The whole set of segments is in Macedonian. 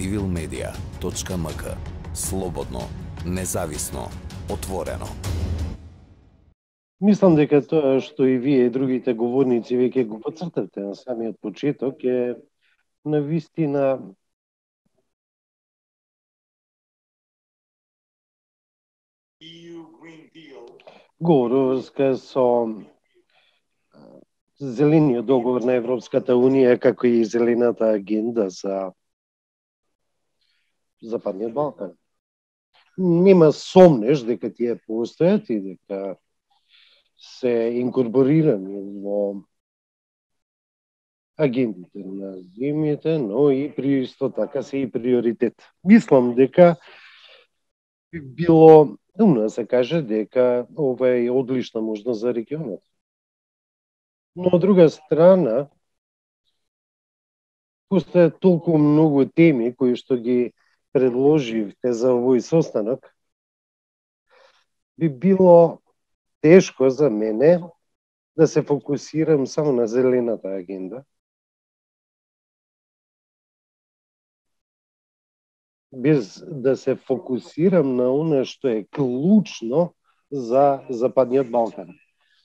civilmedia.mk. Слободно, независно, отворено. Мислам дека тоа што и вие и другите говорници веќе го поцртавте на самиот почеток е навистина говор врска со зелениот договор на Европската Унија, како и зелената агенда за Западниот Балкан. Нема сомнеш дека тие постојат и дека се инкорпорирани во агендите на земјите, но и при исто така се и приоритет. Мислам дека би било умно да се каже дека ова е одлична можност за регионот. Но од друга страна, постојат толку многу теми кои што ги предложивте за овој состанок, би било тешко за мене да се фокусирам само на зелената агенда, без да се фокусирам на она што е клучно за Западниот Балкан.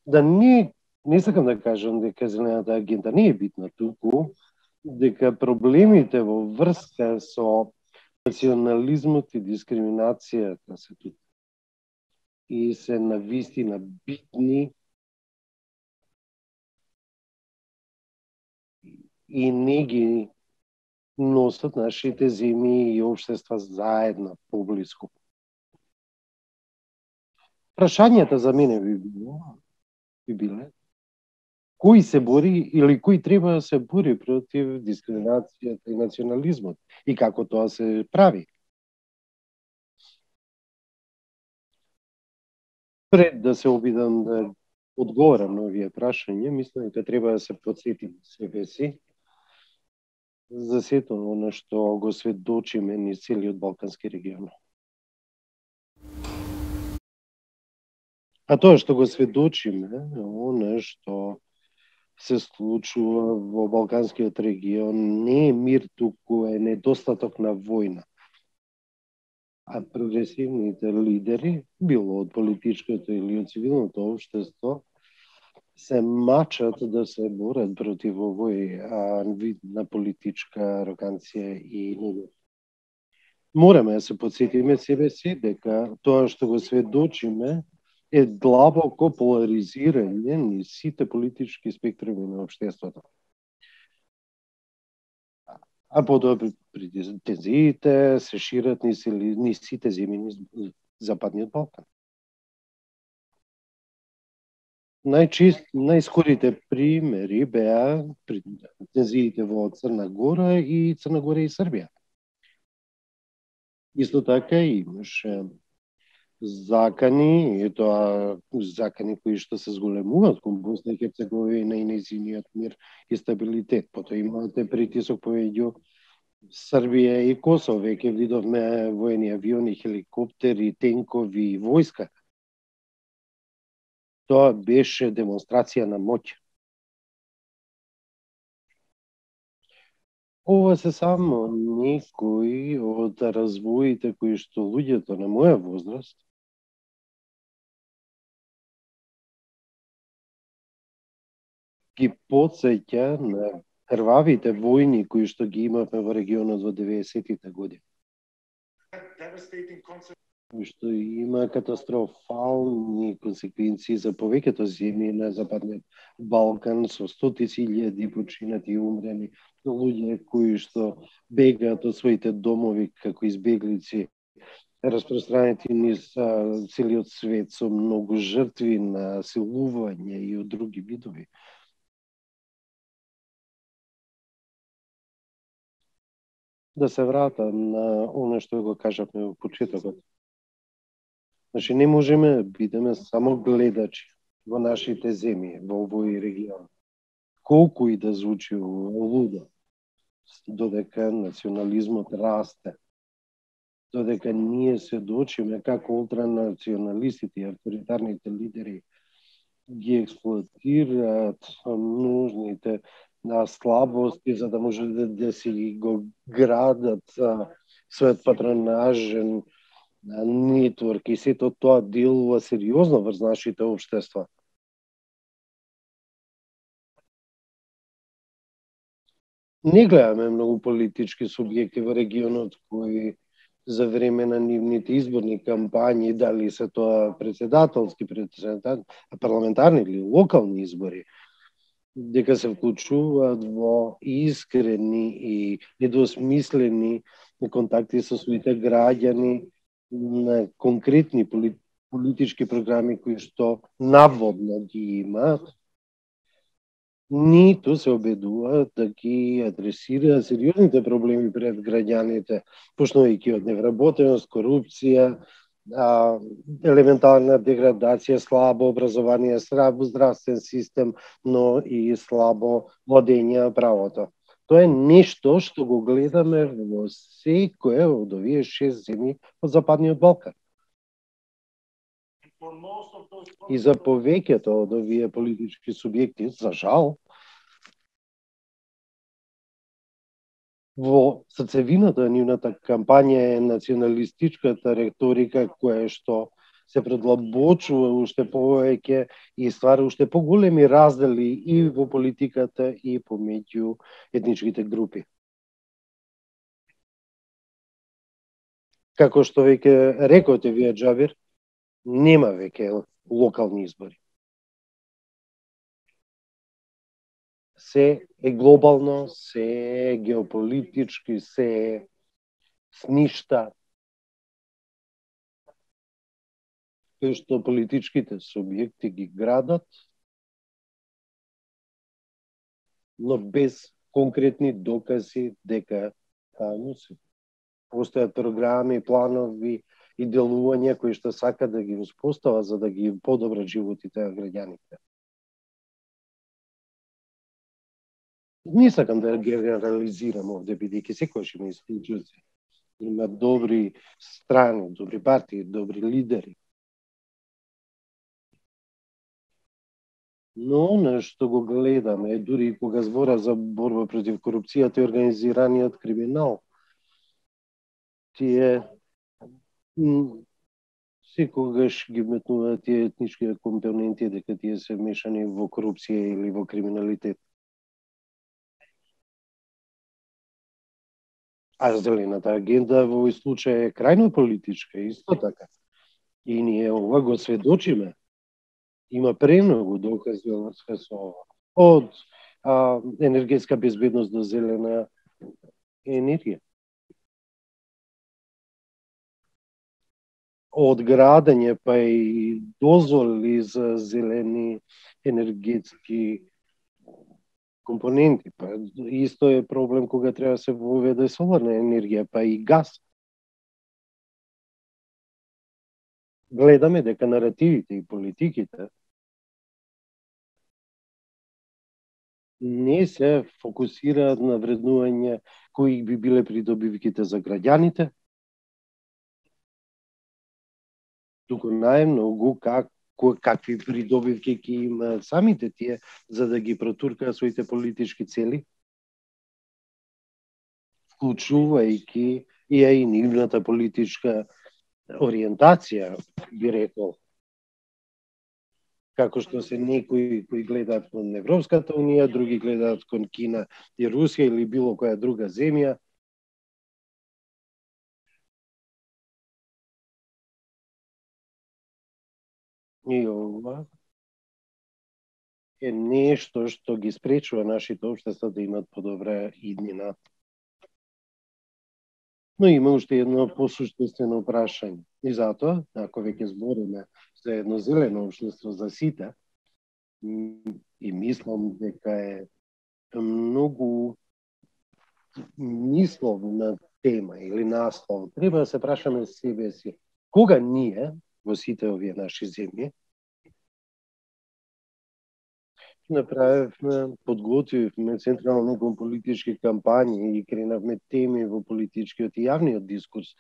Да не сакам да кажам дека зелената агенда не е битна туку, дека проблемите во врска со национализмот и дискриминацијата се тут и се навистина битни и не ги носат нашите земји и општества заедно поблиску. Прашањата за мене би биле кој се бори или кој треба да се бори против дискриминацијата и национализмот и како тоа се прави. Пред да се обидам да одговорам на овие прашања, мислам дека треба да се потсетим себе си за сето оно што го сведочиме низ целиот Балкански регион. А тоа што го сведочиме, оно што се случува во Балканскиот регион не е мир, туку е недостаток на војна. А прогресивните лидери, било од политичкото или од цивилното општество, се мачат да се борат против овој вид на политичка ароганција и негатив. Мораме да се потсетиме себе си дека тоа што го сведочиме е длабоко поларизирање низ сите политички спектруми на општеството. А потоа тензиите се шират низ сите земји низ Западниот Балкан. Најскорите примери беа тензиите во Црна Гора и Србија. Исто така имаше закани, и тоа закани кои што се зголемуваат кон Босна и Херцеговина и нејзиниот мир и стабилитет. Потоа имате притисок помеѓу Србија и Косово. Веќе видовме воени авиони, хеликоптери, тенкови и војска. Тоа беше демонстрација на моќ. Ова се само некои од развоите кои што луѓето на моја возраст ги потсеќа на крвавите војни кои што ги имавме во регионот во 90-тите години. Што има катастрофални консеквенции за повеќето земји на Западниот Балкан, со стотици илјади починати и умрени, луѓе кои што бегаат од своите домови како избеглици, распространети низ целиот свет со многу жртви на силување и од други видови. Да се вратам на оно што го кажавме во почетокот. Значи, не можеме да бидеме само гледачи во нашите земји, во овој регион. Колку и да звучи лудо, додека национализмот расте, додека ние сведочиме како ултранационалистите и авторитарните лидери ги експлоатираат нужните на слабости, за да може да си го градат својот патронажен нетворк и сето тоа делува сериозно врз нашите општества. Не гледаме многу политички субјекти во регионот кои за време на нивните изборни кампањи, дали се тоа председателски, парламентарни или локални избори, дека се вклучуваат во искрени и недвосмислени контакти со своите граѓани на конкретни политички програми кои што наводно ги имаат, ниту се обидуваат да ги адресираат сериозните проблеми пред граѓаните, почнувајќи од невработеност, корупција, елементарна деградација, слабо образование, слаб здравствен систем, но и слабо водење правото. Тоа е нешто што го гледаме во секоја од овие 6 земји од Западниот Балкан. И за повеќето од овие политички субјекти, за жал, во срцевината на нивната кампања е националистичката реторика која што се предлабочува уште повеќе и ствара уште поголеми раздели и во политиката и помеѓу етничките групи. Како што веќе рекоте вие, Џабир, нема веќе локални избори. Се е глобално, се е геополитички, се е сништа. Кој што политичките субјекти ги градат, но без конкретни докази дека постојат програми, планови и делувања кои што сакат да ги успостават за да ги подобрат животите на граѓаните. Не сакам да генерализирам овде, бидејќи секојаш има исклучоци. Има добри страни, добри партии, добри лидери. Но нешто го гледаме, дури и кога збора за борба против корупцијата и организираниот криминал, тие секогаш ги метнуваат тие етнички компоненти дека тие се мешани во корупција или во криминалитет. А зелената агенда во овој случај е крајно политичка, исто така. И ние ова го сведочиме. Има премногу докази во врска со ова. Од енергетска безбедност до зелена енергија. Од градење па и дозволи за зелени енергетски компоненти. Па исто е проблем кога треба да се воведе соларна енергија, па и газ. Гледаме дека наративите и политиките не се фокусираат на вреднување кои би биле придобивките за граѓаните, туку најмногу какви придобивки ќе имаат самите тие за да ги протуркаат своите политички цели, вклучувајќи и нивната политичка ориентација, би рекол. Како што се некои кои гледаат кон Европската унија, други гледаат кон Кина и Русија или било која друга земја. И ова е нешто што ги спречува нашите општества да имат подобра иднина. Но има уште едно посуштествено прашање. И затоа, ако веќе збориме за едно зелено општество за сите, и мислам дека е многу мисловна тема или наслов, треба да се прашаме себе си, кога ние, во сите овие наши земји, направивме, подготвивме централни политички кампањи и кренавме теми во политичкиот и јавниот дискурс.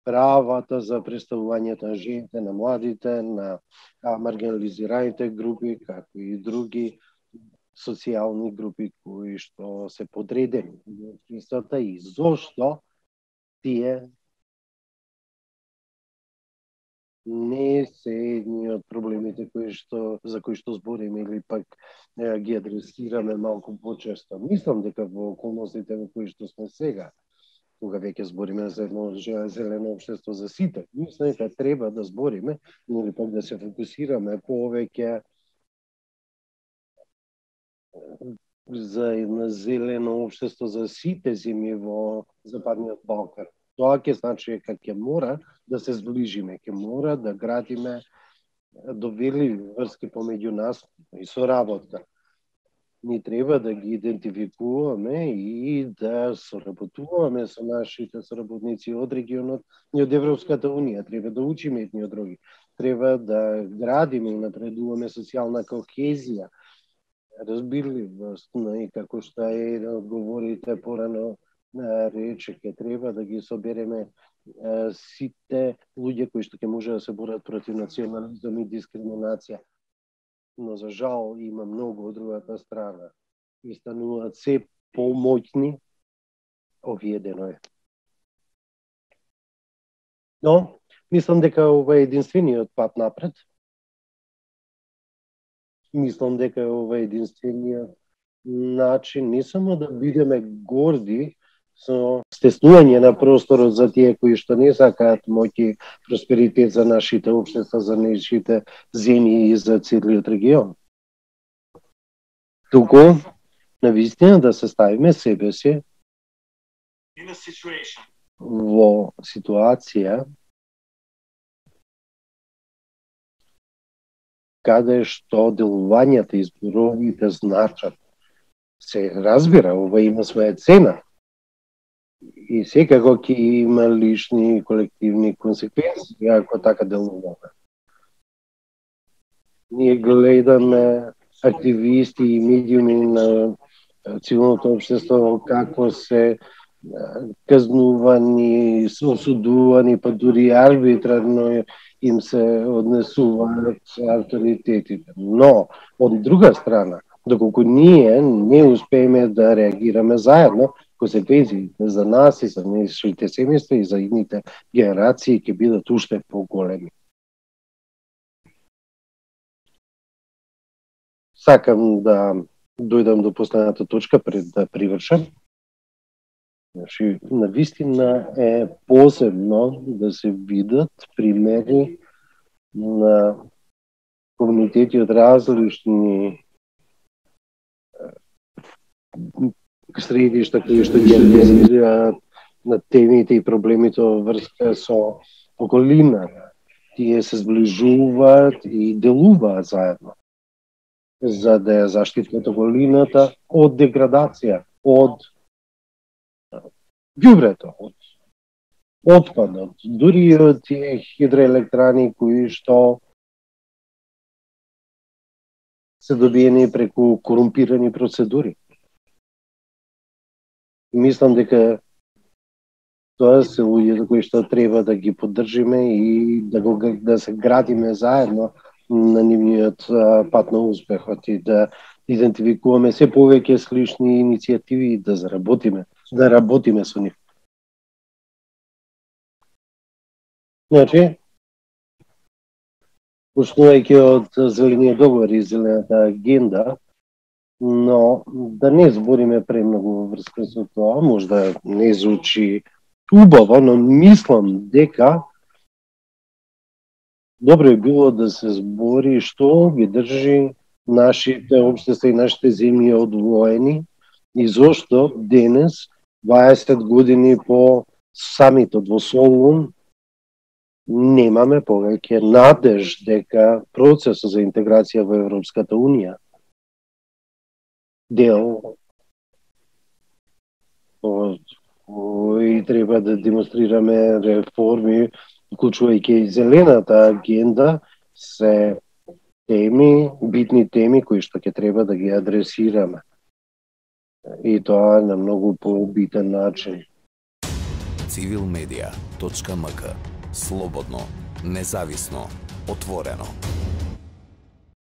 Правата за представувањето на жените, на младите, на маргинализираните групи, како и други социјални групи кои што се подредени во општеството и зошто тие не се едни од проблемите за кои што збориме или пак ги адресираме малку почесто. Мислам дека во околностите во кои што сме сега, кога веќе збориме за едно зелено општество за сите, мислам дека треба да збориме или пак да се фокусираме повеќе за едно зелено општество за сите земји во Западниот Балкан. Тоа ќе значи дека ќе мора да се зближиме, ќе мора да градиме доверливи врски помеѓу нас и соработка. Ни треба да ги идентификуваме и да соработуваме со нашите соработници од регионот и од Европската Унија. Треба да учиме едни од други. Треба да градиме и напредуваме социјална кохезија, разбирливост, и како што е да одговорите порано рече, ќе треба да ги собереме сите луѓе кои што ќе може да се борат против национализам и дискриминација. Но за жал има многу од другата страна и стануваат се помоќни, овиедено е. Но, мислам дека ова е единствениот пат напред. Мислам дека ова е единствениот начин не само да бидеме горди со стеснување на просторот за тие кои што не сакаат моќ и просперитет за нашите општества, за нашите земји и за целиот регион. Туку, навистина да се ставиме себе си во ситуација каде што делувањата и зборовите значат. Се разбира, ова има своја цена. И секако ќе има лични и колективни консеквенции ако така делуваме. Ние гледаме активисти и медиуми на цивилното општество како се казнувани, осудувани, па дури арбитрарно им се однесуваат авторитетите. Но, од друга страна, доколку ние не успееме да реагираме заедно, консеквенциите за нас и за нашите семејства и за идните генерации ќе бидат уште поголеми. Сакам да дојдам до последната точка пред да привршам. Значи, навистина е посебно да се видат примери на комунитети од различни средишта кои што ги анализираат на темите и проблемите во врска со околината. Тие се зближуваат и делуваат заедно за да ја заштитат околината од деградација, од ѓубрето, од отпадот, дури од тие хидроелектрани кои што се добиени преку корумпирани процедури. Мислам дека тоа се луѓето кои што треба да ги поддржиме и да се градиме заедно на нивниот пат на успехот и да идентификуваме се повеќе слични иницијативи и да работиме со нив. Значи, почнувајќи од зелениот договор и зелената агенда, но да не збориме премногу во врска со тоа, можда не звучи убаво, но мислам дека добро е било да се збори што ги држи нашите општества и нашите земји одвоени и зошто денес, 20 години по самитот во Солун, немаме повеќе надеж дека процесот за интеграција во Европската Унија дел кој треба да демонстрираме реформи, вклучувајќи и зелената агенда, се теми, битни теми кои што ќе треба да ги адресираме. И тоа на многу побитен начин. Civilmedia.mk. Слободно, независно, отворено.